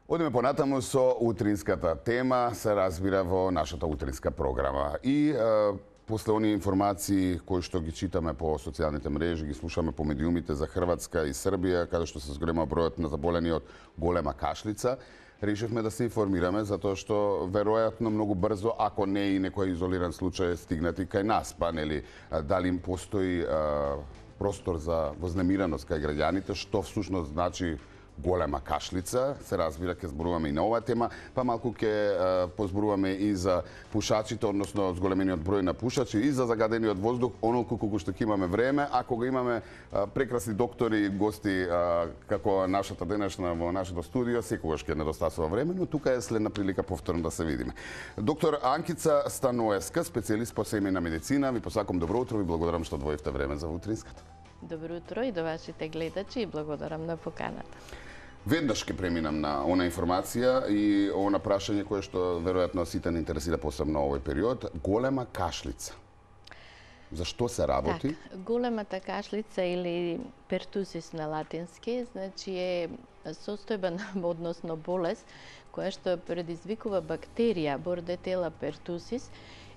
Одиме понатаму со утринската тема, се разбира во нашата утринска програма. И после оние информации кои што ги читаме по социјалните мрежи, ги слушаме по медиумите за Хрватска и Србија, каде што се зголема бројот на заболени од голема кашлица, решивме да се информираме затоа што веројатно многу брзо, ако не и некој изолиран случај стигнати кај нас, па нели дали им постои простор за вознемираност кај граѓаните, што всушност значи голема кашлица, се разбира ќе зборуваме и на оваа тема, па малку ќе позборуваме и за пушачите, односно зголемениот број на пушачи и за загадениот воздух, онолку колку што ќе имаме време, ако го имаме прекрасни доктори и гости како нашата денешна во нашето студио, секогаш ќе недостасува време, но тука е следна прилика повторно да се видиме. Доктор Анкица Станоевска, специјалист по семејна медицина, ви посакам добро утро и благодарам што одвоивте време за утринската. Добро утро и до вашите гледачи и благодарам на поканата. Веднаш ќе преминам на она информација и она прашање кое што веројатно сите не интересира посебно овој период. Голема кашлица. За што се работи? Так, големата кашлица или пертусис на латински, значи е состојба односно болест која што предизвикува бактерија Bordetella pertussis.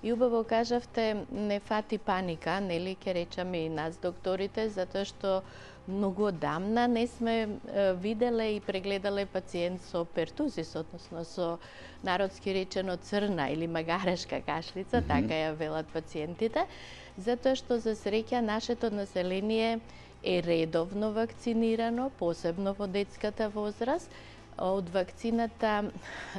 И убаво кажавте, не фати паника, нели ќе речеме и нас докторите, затоа што многу одамна не сме виделе и прегледале пациент со пертусис, односно со народски речено црна или магарешка кашлица, така ја велат пациентите, затоа што за среќа нашето население е редовно вакцинирано, посебно во детската возраст, од вакцината,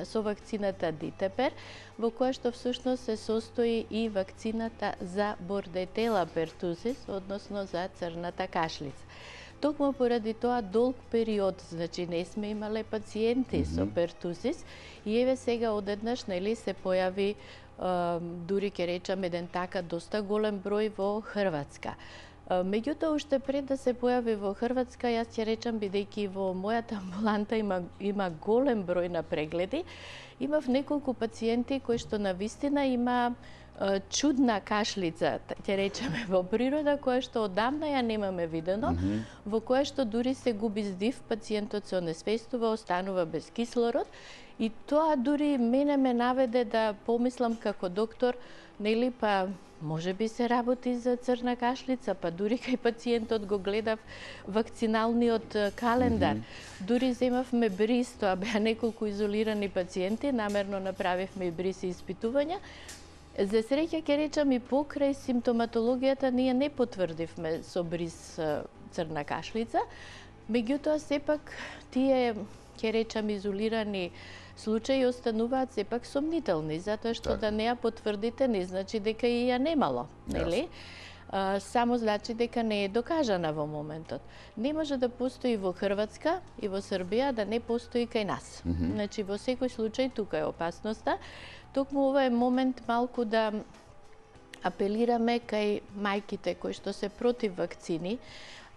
со вакцината Дитепер, во која што всушност се состои и вакцината за Bordetella pertussis, односно за црната кашлица. Токму поради тоа долг период, значи не сме имале пациенти со пертусис и еве сега одеднаш нели се појави дури ќе речам еден така доста голем број во Хрватска. Меѓутоа, уште пред да се појави во Хрватска, јас ќе речам, бидејќи во мојата амбуланта има голем број на прегледи, имав неколку пациенти кои што навистина има чудна кашлица, ќе речеме, во природа, која што одамна ја немаме видено, во која што дури се губи здив, пациентот се онесвестува, останува без кислород, и тоа дури мене ме наведе да помислам како доктор, нели па може би се работи за црна кашлица, па дури кај пациентот го гледав вакциналниот календар. Дури земавме бриз, тоа беа неколку изолирани пациенти, намерно направивме и бриз и испитувања. За среќа ќе речам и покрај симптоматологијата ние не потврдивме со бриз црна кашлица, меѓутоа сепак тие ќе речам изолирани случаи остануваат сепак сомнителни, затоа што да не ја потврдите не значи дека и ја немало, нели? Само значи дека не е докажана во моментот. Не може да постои во Хрватска и во Србија да не постои кај нас. Значи во секој случај тука е опасноста. Токму ова е момент малку да апелираме кај мајките кои што се против вакцини,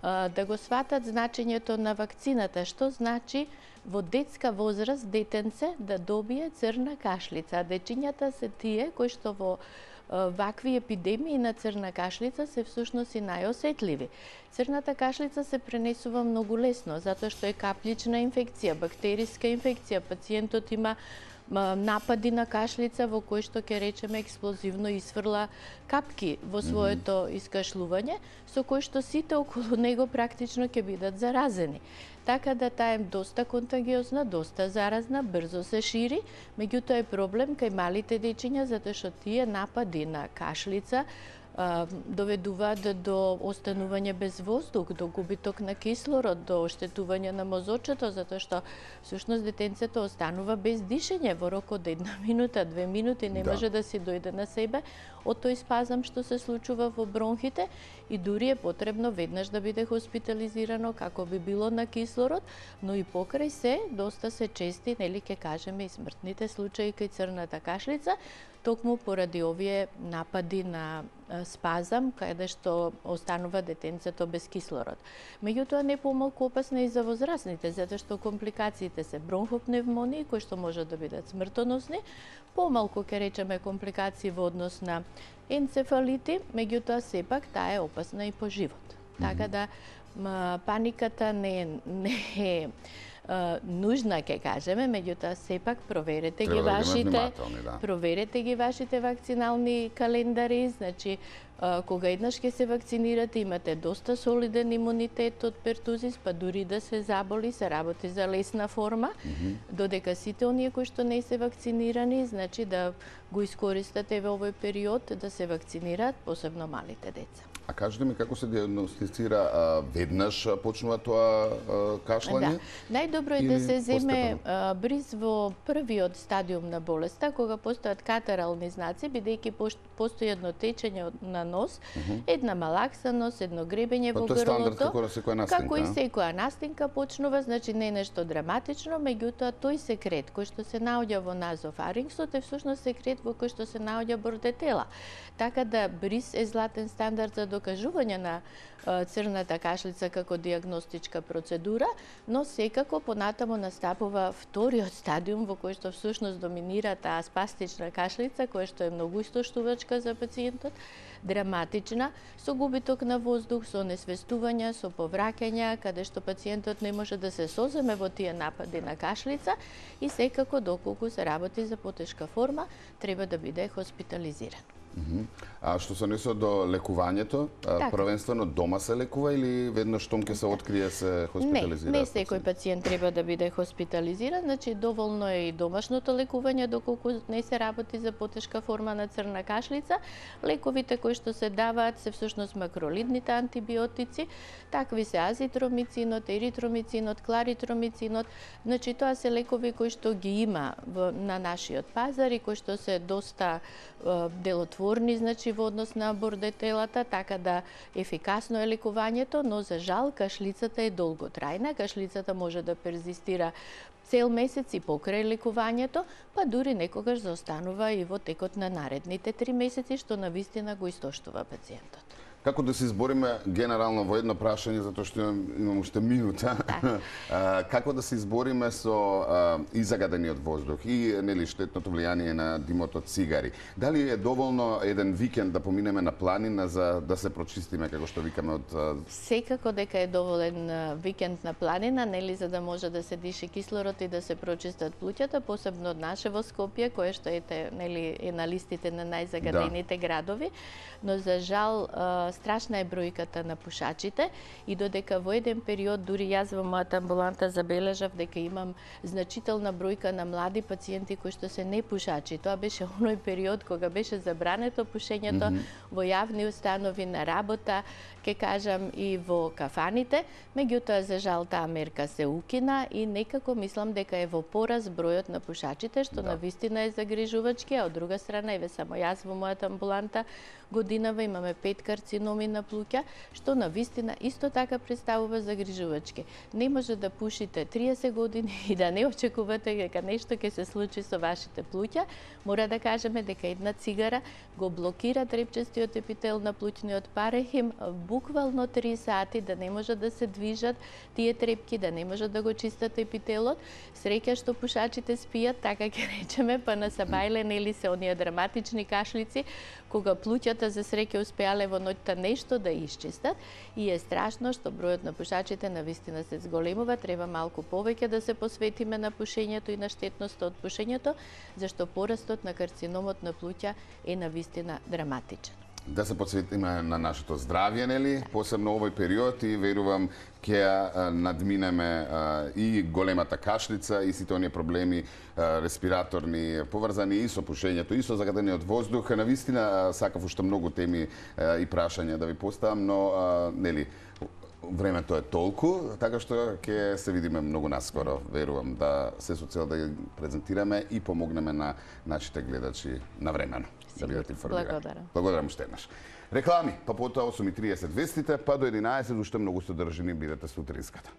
да го сватат значењето на вакцината, што значи во детска возраст детенце да добие црна кашлица. Дечињата се тие кои што во вакви епидемии на црна кашлица се всушност и најосетливи. Црната кашлица се пренесува многу лесно, затоа што е каплична инфекција, бактериска инфекција. Пациентот има напади на кашлица во кој што ќе речеме експлозивно исфрла капки во своето искашлување, со кој што сите околу него практично ќе бидат заразени. Така да таа е доста контагиозна, доста заразна, брзо се шири, меѓутоа е проблем кај малите дечиња затоа што тие напади на кашлица доведуваат до останување без воздух, до губиток на кислород, до оштетување на мозочето, затоа што всушност детенцето останува без дишење во рок од 1 минута, 2 минути, не може да си дојде на себе од тој спазам што се случува во бронхите и дури е потребно веднаш да биде хоспитализирано како би било на кислород, но и покрај се доста се чести, нели ќе кажеме и смртните случаи кај црната кашлица, токму поради овие напади на спазам, каде што останува детенцето без кислород. Меѓутоа не помалку опасна и за возрастните, затоа што компликациите се бронхопневмонии, кои што можат да бидат смртоносни, помалку ќе речеме компликации во однос на енцефалити, меѓутоа сепак таа е опасна и по живот. Така да паниката не е нужна, ке кажеме, меѓутоа сепак проверете ги вашите вакцинални календари, значи кога еднаш ќе се вакцинирате, имате доста солиден имунитет од пертузис, па дури да се заболи, се работи за лесна форма, додека сите оние кои што не се вакцинирани, значи да го искористате во овој период да се вакцинираат, посебно малите деца. А кажете ми како се диагностицира, веднаш почнува тоа кашлање? Да. Најдобро е да се земе бриз во првиот стадиум на болеста, кога постојат катарални знаци, бидејќи постои едно течење на нос, една малаксаност, едно гребење во грлото. Тоа е стандард како секоја настинка. Како и секоја настинка почнува, значи не е нешто драматично, меѓутоа тој секрет кој што се наоѓа во назофарингсот е всушност секрет во кој што се наоѓа бордетела. Така да бриз е златен стандард за докажување на црната кашлица како диагностичка процедура, но секако понатаму настапува вториот стадиум во кој што всушност доминира таа спастична кашлица, која што е многу истоштувачка за пациентот, драматична, со губиток на воздух, со несвестувања, со повраќања, каде што пациентот не може да се соземе во тие напади на кашлица и секако доколку се работи за потешка форма, треба да биде хоспитализиран. А што се однесува до лекувањето, првенствено дома се лекува или веднаш штом ќе се открие се хоспитализира? Не секој пациент треба да биде хоспитализиран, значи доволно е и домашното лекување доколку не се работи за потешка форма на црна кашлица. Лековите кои што се даваат се всушност макролидните антибиотици, такви се азитромицинот, еритромицинот, кларитромицинот, значи тоа се лекови кои што ги има на нашиот пазар и кои што се доста делотворни, значи во однос на бордетелата, така да ефикасно е лекувањето, но за жал кашлицата е долготрајна, кашлицата може да перзистира цел месец и покрај лекувањето, па дури некогаш заостанува и во текот на наредните 3 месеци, што навистина го истоштува пациентот. Како да се избориме генерално во едно прашање, затоа што имам уште минута, како да се избориме со и загадениот воздух и нели штетното влијание на димот од цигари? Дали е доволно еден викенд да поминеме на планина за да се прочистиме, како што викаме од... Секако дека е доволен викенд на планина, нели, за да може да се диши кислород и да се прочистат плуќата, посебно од наше во Скопје, кое што нели е на листите на најзагадените градови, но за жал страшна е бројката на пушачите и додека во еден период дури јас во мојата амбуланта забележав дека имам значителна бројка на млади пациенти кои што се непушачи. Тоа беше оној период кога беше забрането пушењето во јавни установи, на работа, ке кажам и во кафаните, меѓутоа за жал таа мерка се укина и некако мислам дека е во пораз бројот на пушачите, што навистина е загрижувачки, а од друга страна еве само јас во мојата амбуланта годинава имаме 5 карциноми на плуќа, што навистина исто така представува загрижувачки. Не може да пушите 30 години и да не очекувате дека нешто ќе се случи со вашите плуќа. Мора да кажеме дека една цигара го блокира трепчестиот епител на плуќниот парехим буквално 3 сати, да не може да се движат тие трепки, да не може да го чистат епителот. Среќа што пушачите спијат, така ќе речеме, па на сабајле нели се оние драматични кашлици, кога плуќата за среќа успеале во ноќта нешто да исчистат и е страшно што бројот на пушачите навистина се зголемува. Треба малку повеќе да се посветиме на пушењето и на штетноста од пушењето, зашто порастот на карциномот на плуќа е навистина драматичен. Да се посветиме на нашето здравје, нели, посебно овој период и верувам ќе надминеме и големата кашлица и сите оние проблеми респираторни поврзани и со пушењето и со загадениот воздух. Навистина сакав уште многу теми и прашања да ви поставам, но нели времето е толку, така што ќе се видиме многу наскоро, верувам, да се со цел да ги презентираме и помогнеме на нашите гледачи навремено да бидат информирани. Благодарам уште еднаш. Реклами, па потоа 8:30 вестите, па до 11 уште многу содржини бидете со утринската.